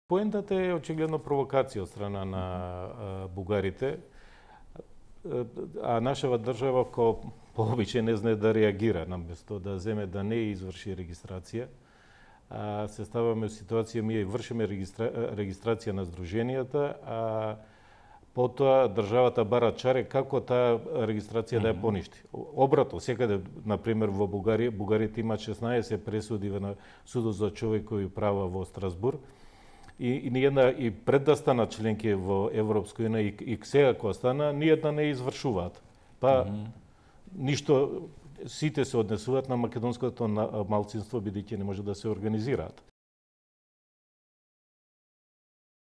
Поентата е очигледно провокација од страна на бугарите, а нашава држава кој по обичај не знае да реагира, наместо да земе да не изврши регистрација. Се ставаме во ситуација, ние вршиме регистрација на здруженијата, а потоа државата бара чаре како таа регистрација да ја поништи. Обратно, секаде, например, во Бугарија, бугарите имаат 16 пресуди на Судот за човекови права во Страсбург, и ниедна, и пред да станат членки во Европска унија и сега кога стана, ниедна не извршуваат. Па ништо, сите се однесуваат на македонското малцинство, бидејќи не може да се организираат.